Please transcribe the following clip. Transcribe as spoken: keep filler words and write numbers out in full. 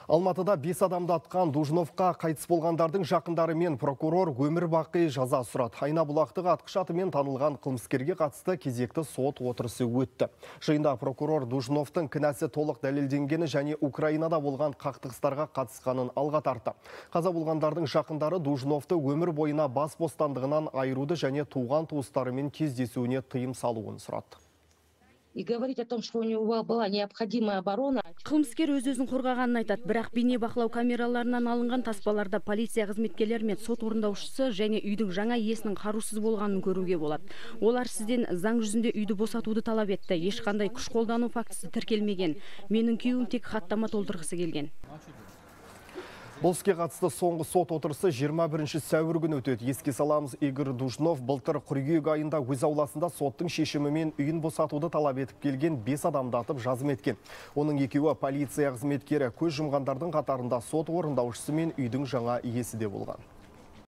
Алматыда бес адамды атқан Дужновқа қайтыс болғандардың жақындары мен прокурор өмір бақи жаза сұрады. Айнабұлақтағы атқыш атымен танылған қылмыскерге қатысты кезекті сот отырысы өтті. Жиында прокурор Дужновтың кінәсі толық дәлелденгені және Украинада болған қақтығыстарға қатысқанын алға тартты. Қаза болғандардың жақындары Дужновты өмір бойына бас бостандығынан айыруды және туған туыстарымен кездесуіне тыйым салуын сұрады. И говорить о том, что у него была необходимая оборона. Қылмыскер өз-өзін қорғағанын айтады, бірақ бейне бақылау камераларынан алынған таспаларда полиция қызметкерлері мен сот орындаушысы және үйдің жаңа иесінің қарусыз болғанын көруге болады. Олар сізден заң жүзінде үйді босатуды талап етті. Ешқандай күш қолдану фактісі тіркелмеген. Менің күйеуім тек хаттама толтырғысы келген. Бұл іске қатысты соңғы сот отырысы жиырма бірінші сәуір күні өтеді. Еске саламыз, Игорь Дужнов былтыр қыркүйек айында өз ауласында соттың шешімімен үйін босатуды талап етіп келген бес адамды атып жазым еткен. Оның екеуі полиция қызметкері, көз жұмғандардың қатарында сот орындаушысы мен үйдің жаңа иесі де болған.